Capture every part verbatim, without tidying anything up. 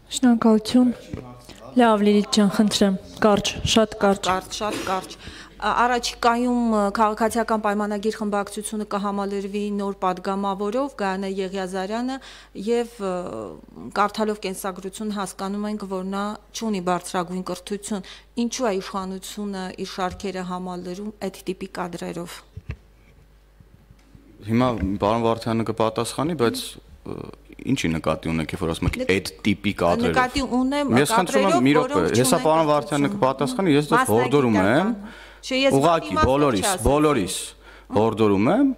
Շնորհակալություն։ Լավ, Լիլիթ ջան, խնդրեմ, կարճ, շատ կարճ։ Կարճ, շատ կարճ։ Առաջիկայում քաղաքացիական պայմանագիր խմբակցությունը կհամալրվի նոր падգամավորով Գայանե Եղիազարյանը եւ կարդալով կենսագրություն հասկանում ենք, որ նա չունի բարձրագույն կրթություն։ Ինչու է իշխանությունը իր շարքերը համալրում այդ տիպի կադրերով։ Հիմա պարոն Վարդյանը կպատասխանի, բայց ինչի նկատի ունեք, երբ որ ասում եք այդ տիպի կադրերով։ Նկատի ունեմ Ես խնդրում եմ մի րոպե, հեսա պարոն Վարդյանը կպատասխանի, ես դեռ հորդորում եմ։ Ուղղակի բոլորիս, բոլորիս հորդորում եմ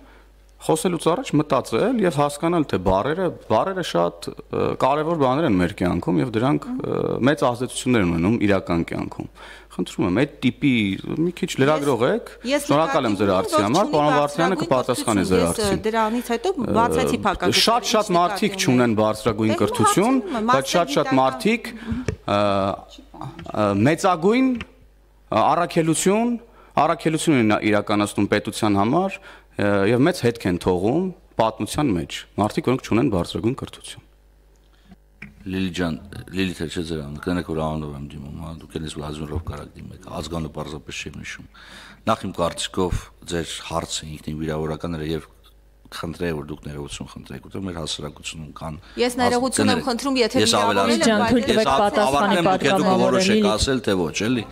խոսելուց առաջ մտածել եւ հասկանալ, թե բառերը, բառերը շատ կարեւոր բաներ են մեր կյանքում եւ դրանք մեծ ազդեցություններ են ունենում իրական կյանքում։ Խնդրում եմ, այդ տիպի մի քիչ լրագրող եք, շնորհակալ եմ ձեր հարցի համար, պարոն Վարդյանը կպատասխանի ձեր հարցին։ Դրանից հետո բացեցի փակագծը։ Շատ-շատ մարդիկ չունեն բարձրագույն կրթություն, բայց շատ-շատ մարդիկ մեծագույն առաքելություն, առաքելություն են իրականացնում պետության համար եւ մեծ հետք են թողում պատմության մեջ։ Մարդիկ, որոնք չունեն բարձրագույն կրթություն։ Լիլիթ ջան, Լիլիթը չէ ձեր անունը, կներեք որ անունով եմ դիմում, հա, դուք ելես Վլադիմիրով կարակ դիմեք, ազգանունը պարզապես չեմ նշում։ Նախ իմ կարծիքով ձեր հարցը ինքնին վիրավորական էր եւ խնդրեի որ դուք ներողություն խնդրեք, որտեղ մեր հասարակությունում կան։ Ես ներողություն եմ խնդրում, եթե վիրավորել ասել թե ոչ, էլի։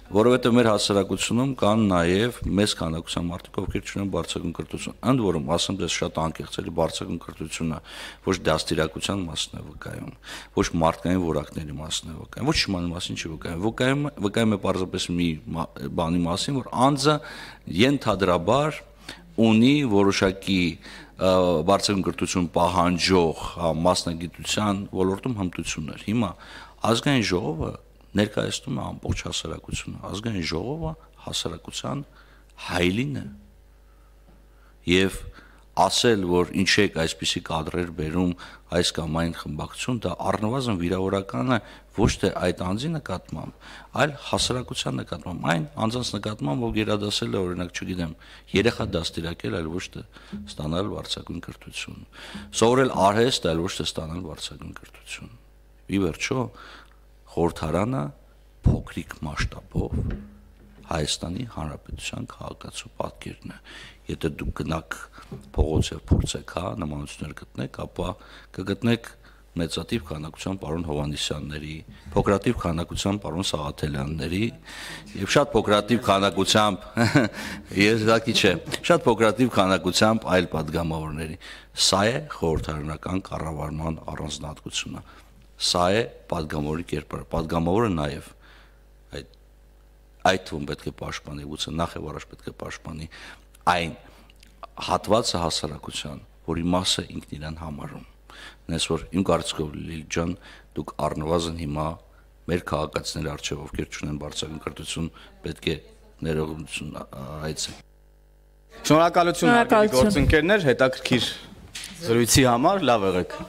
Որովհետև մեր հասարակությունում կան նաև մեծ քանակության մարդիկ, ովքեր չունեն բարձրագույն կրթություն։ Ընդ որում, ասեմ դες շատ անկեղծ էլի բարձրագույն կրթությունը ոչ դաստիարակության մասն է վկայում, ոչ մարդկային որակների մասն է վկայում, ոչ շմանի մասին չի վկայում։ Վկայում վկայում է պարզապես մի բանի մասին, որ անձը ենթադրաբար ունի որոշակի բարձրագույն կրթություն պահանջող մասնագիտության ոլորտում հմտություններ։ Հիմա ազգային ժողովը ներկայացնում է ամբողջ հասարակությունը, ազգային ժողովը հասարակության հայելին է եւ ասել, որ ինչ եք այսպիսի կադրեր բերում այս կամ այն խմբակցություն, դա առնվազն վիրավորական է ոչ թե այդ անձի նկատմամբ, այլ հասարակության նկատմամբ, այն անձանց նկատմամբ, որ գերադասել է, օրինակ, չգիտեմ, երեխա դաստիարակել, այլ ոչ թե ստանալ բարձրագույն կրթություն, սովորել արհեստ, այլ ոչ թե ստանալ բարձրագույն կրթություն։ Ի վերջո խորհրդարանը փոքրիկ մասշտաբով Հայաստանի Հանրապետության քաղաքացու պատկերն է։ Եթե դուք գնաք փողոց եւ փորձեք, հա, նմանություններ գտնեք, ապա կգտնեք մեծատիվ քանակության պարոն Հովհաննիսյանների, փոքրատիվ քանակության պարոն Սաղաթելյանների եւ շատ փոքրատիվ քանակությամբ եզակի չէ, շատ փոքրատիվ քանակությամբ այլ падգամավորների։ Սա է խորհրդարանական կառավարման առանձնահատկությունը։ Սա է падգամավորի կերպարը, падգամավորը նաև այդ այդ թվում պետք է պաշտպանի, գուցե նախ եւ առաջ պետք է պաշտպանի այն հատվածը հասարակության, որի մասը ինքն իրան համարում։ Նես որ իմ կարծիքով Լիլիթ ջան, դուք առնվազն հիմա մեր քաղաքացիների առջև, ովքեր չունեն բարձրագույն կրթություն, պետք է ներողություն հայցեն։ Շնորհակալություն, հարգելի գործընկերներ, հետաքրքիր զրույցի համար, լավ եղեք։